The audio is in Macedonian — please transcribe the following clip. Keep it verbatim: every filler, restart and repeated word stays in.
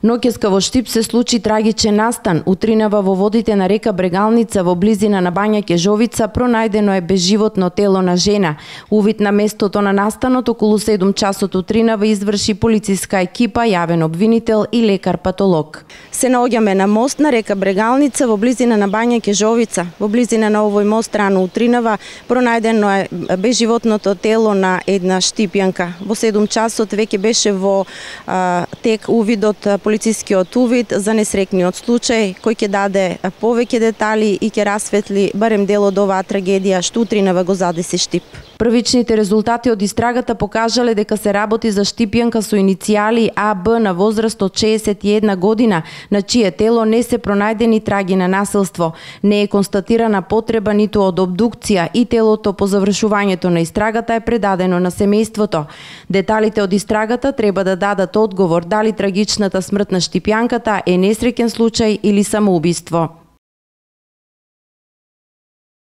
Ноќеска во Штип се случи трагичен настан. Утринава во водите на река Брегалница во близина на Бања Кежовица пронајдено е безживотно тело на жена. Увид на местото на настанот околу седум часот утринава изврши полициска екипа, јавен обвинител и лекар-патолог. Се наоѓаме на мост на река Брегалница во близина на Бања Кежовица. Во близина на овој мост рано утринава пронајдено е безживотното тело на една штипјанка. Во седум часот веќе беше во а, тек увидот, полицискиот увид за несрекниот случај, кој ќе даде повеќе детали и ќе расветли барем дел од оваа трагедија што утринава го задеси Штип. Првичните резултати од истрагата покажале дека се работи за штипјанка со иницијали А Б на возраст од шеесет и една година, на чие тело не се пронајдени траги на насилство. Не е констатирана потреба ниту од обдукција и телото по завршувањето на истрагата е предадено на семејството. Деталите од истрагата треба да дадат одговор дали трагичната смрт на штипјанката е несреќен случај или самоубиство.